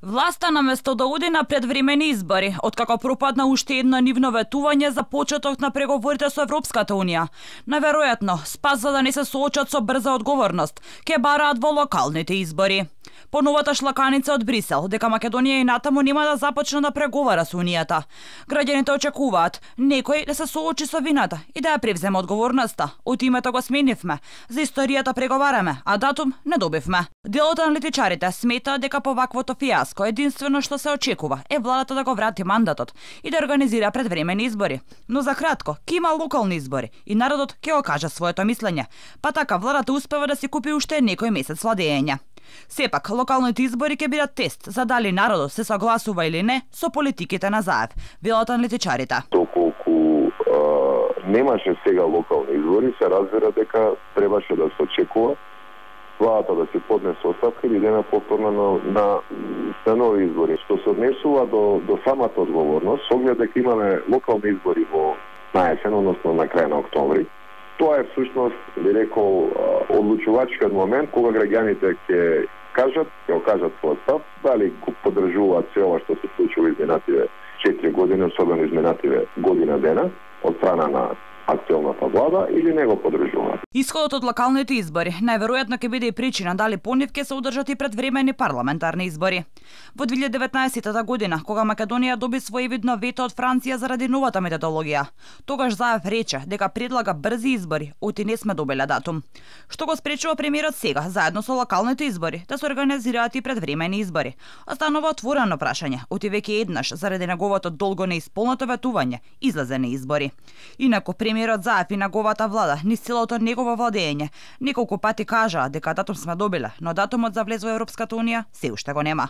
Власта наместо да оди на предвремени избори, откако пропадна уште едно нивно ветување за почеток на преговорите со Европската Унија, наверојатно спас за да не се соочат со брза одговорност, ке бараат во локалните избори. По новата шлаканица од Брисел, дека Македонија и натаму нема да започне да преговара со Унијата. Граѓаните очекуваат некој да се соочи со вината и да ја превземе одговорноста. Од името го сменивме, за историјата преговараме, а датум не добивме. Делот аналитичарите смета дека по ваквото фијаско единствено што се очекува е владата да го врати мандатот и да организира предвремени избори. Но за кратко, ке има локални избори и народот ќе го каже своето мислење, па така владата успева да си купи уште некој месец владење. Сепак, локалните избори ќе бидат тест за дали народот се согласува или не со политиките на Заев, велат аналитичарите. Доколку немаше сега локални избори, се разбира дека требаше да се очекува владата да се поднесе оставка или да има повторно на нови избори. Што се однесува до самата одговорност, со оглед дека имаме локални избори на есен, односно на крај на октомври, тоа е всушност, би рекол, одлучувачкиот момент кога граѓаните ќе кажат својот став, дали го поддржуваат се ова што се случува изминативе 4 години, особено изминативе година дена, од страна на актуелната влада или не го поддржуваат. Исходот од локалните избори најверојатно ќе биде и причина дали по нив ќе се одржат и предвремени парламентарни избори. Во 2019 година, кога Македонија доби своевидно вето од Франција заради новата методологија, тогаш Заев рече дека предлага брзи избори, оти не сме добиле датум. Што го спречува премиерот сега, заедно со локалните избори, да се организираат и предвремени избори? Останува отворено прашање, оти веќе еднаш заради неговото долго неисполнато ветување излезе на избори. Инаку премиерот Заев и неговата влада низ целото негово владење неколку пати кажаа дека датум сме добиле, но датумот за влез во Европската Унија се уште го нема.